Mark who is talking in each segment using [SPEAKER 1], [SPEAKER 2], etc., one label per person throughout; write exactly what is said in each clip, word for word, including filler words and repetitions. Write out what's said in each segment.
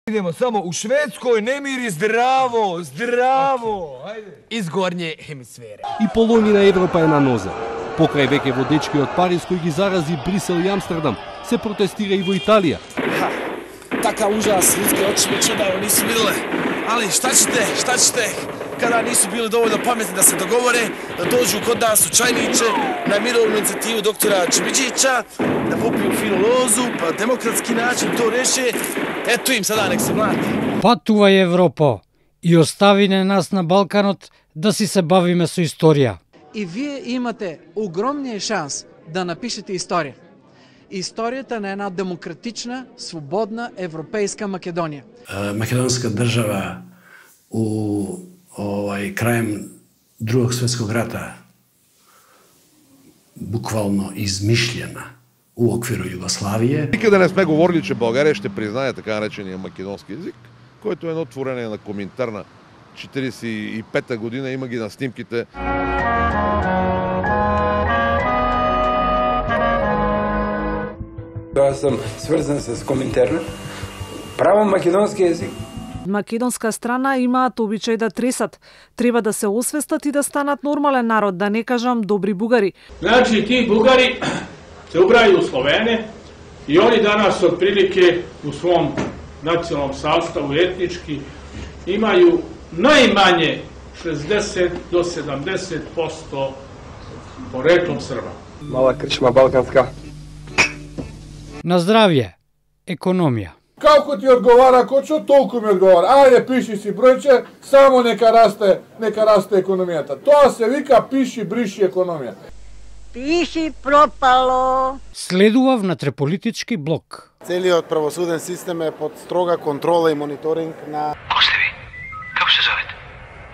[SPEAKER 1] Idemo samo u Švedskoj, nemiri zdravo, zdravo. Ajde.
[SPEAKER 2] Iz gornje hemisfere.
[SPEAKER 3] И половина Европа е на нозе. Покрај веќе водечки од Париз кој ги зарази Брисел и Амстердам, се протестира и во Италија.
[SPEAKER 4] Ha, takav užas, ljudske oči već odavno nisu vidjele. Ali šta ćete, šta ćete, kada nisu bili dovoljno pametni da se dogovore, da dođu kod nas u Čajniće na mirovnu inicijativu doktora Čibidžića, da popiju finu lozu, pa demokratski način to reše, eto im sada nek se mlati.
[SPEAKER 5] Патувај Европа и остави не нас на Балканот да си се бавиме со историја.
[SPEAKER 6] И вие имате огромниот шанс да напишете историја. Историјата на една демократична, слободна европејска Македонија.
[SPEAKER 7] Македонска држава у овај крајем Другog светског рата буквално измишлена у оквиру Југославија.
[SPEAKER 8] Никаде не сме говорили, че Българија ще признае така наречения македонски език, който е едно творење на Коминтерна четиридесет и пета година, има ги на снимките.
[SPEAKER 9] Јас сум сврзан с Коминтерна. Право македонски език.
[SPEAKER 10] Македонска страна имаат обичај да тресат. Треба да се освестат и да станат нормален народ, да не кажам добри бугари.
[SPEAKER 11] Значи, ти бугари се убрају у Словене и они данас отприлике у свом националном sastavu etnički imaju najmanje šezdeset do sedamdeset posto poreklom Srba.
[SPEAKER 9] Mala krčma balkanska.
[SPEAKER 5] На здравје, економија.
[SPEAKER 12] Како ти одговара Кочо, толку ми одговара. Ајде, пиши си бројче, само нека расте, нека расте економијата. Тоа се вика пиши, бриши економија.
[SPEAKER 13] Пиши пропало.
[SPEAKER 5] Следува внатреполитички блок.
[SPEAKER 14] Целиот правосуден систем е под строга контрола и мониторинг на...
[SPEAKER 15] Ко сте ви? Како се зовете?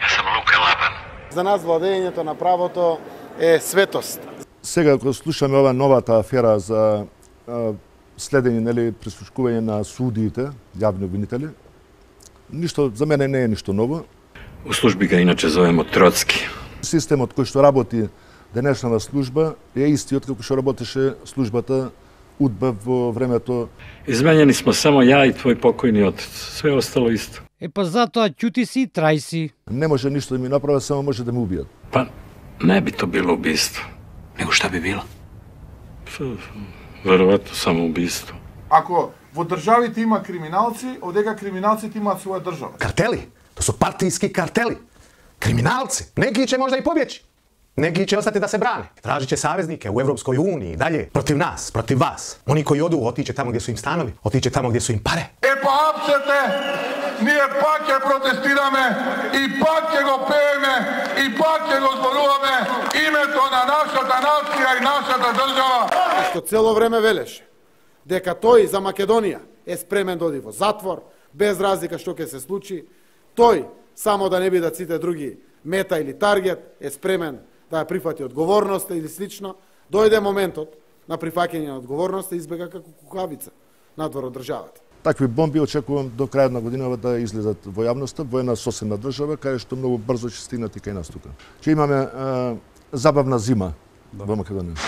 [SPEAKER 15] Јас сам Лука Лабан.
[SPEAKER 14] За нас владењето на правото е светост.
[SPEAKER 16] Сега кога слушаме ова новата афера за следење, нели, прислушкување на судиите, јавни обвинители, ништо за мене не е ништо ново.
[SPEAKER 15] У служби га иначе зовемо Троцки.
[SPEAKER 16] Системот кој што работи денешната служба е истиот како што работеше службата УДБА во времето.
[SPEAKER 15] Изменени смо само ја и твој покојни отец. Све остало исто.
[SPEAKER 5] Е па затоа ќути си и трај си.
[SPEAKER 16] Не може ништо да ми направи, само може да ме убијат.
[SPEAKER 15] Па не би то било убиство. Него шта би било? Веројатно само убиство.
[SPEAKER 12] Ако во државите има криминалци, одека криминалците имаат своја држава.
[SPEAKER 17] Картели, то су партијски картели. Криминалци, неки ќе можда и побјечи. Неки ќе остати да се бране. Тражиće saveznike u Европској унiji, dalje, protiv nas, protiv vas. Oni koji odu, otiće tamo gdje su im stanovi, otiće tamo gdje su im pare.
[SPEAKER 12] E pa apsete, ние пак ќе протестираме и пак ќе го пееме и пак ќе го зборуваме името на нашата нација и нашата држава.
[SPEAKER 14] Што цело време велеше дека тој за Македонија е спремен да оди во затвор, без разлика што ќе се случи. Тој, само да не бидат сите други мета или таргет, е спремен да ја прифати одговорноста или слично. Дојде моментот на прифаќање на одговорноста и избега како кукавица надвор од државата.
[SPEAKER 16] Такви бомби очекувам до крајот на годината да излезат во јавноста, во една соседна држава, каде што многу брзо ќе стигнат и кај нас тука. Ќе имаме е, забавна зима во Македонија.